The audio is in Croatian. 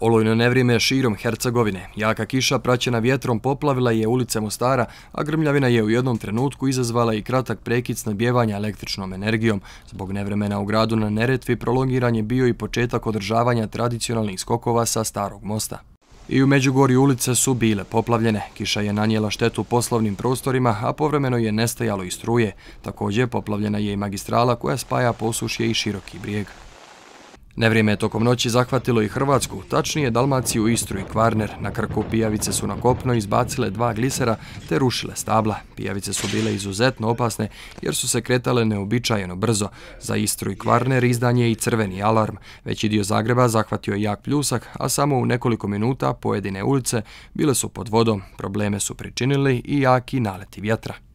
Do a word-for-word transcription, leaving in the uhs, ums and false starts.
Olujno nevrijeme širom Hercegovine. Jaka kiša praćena vjetrom poplavila je ulice Mostara, a grmljavina je u jednom trenutku izazvala i kratak prekid snabdijevanja električnom energijom. Zbog nevremena u gradu na Neretvi prolongiran je bio i početak održavanja tradicionalnih skokova sa Starog mosta. I u Međugorju ulice su bile poplavljene. Kiša je nanijela štetu poslovnim prostorima, a povremeno je nestajalo i struje. Također poplavljena je i magistrala koja spaja Posušje i Široki Brijeg. Nevrijeme je tokom noći zahvatilo i Hrvatsku, tačnije Dalmaciju, Istru i Kvarner. Na Krku pijavice su na kopno izbacile dva glisera te rušile stabla. Pijavice su bile izuzetno opasne jer su se kretale neobičajeno brzo. Za Istru i Kvarner izdan je i crveni alarm. Veći dio Zagreba zahvatio je jak pljusak, a samo u nekoliko minuta pojedine ulice bile su pod vodom. Probleme su pričinili i jaki naleti vjetra.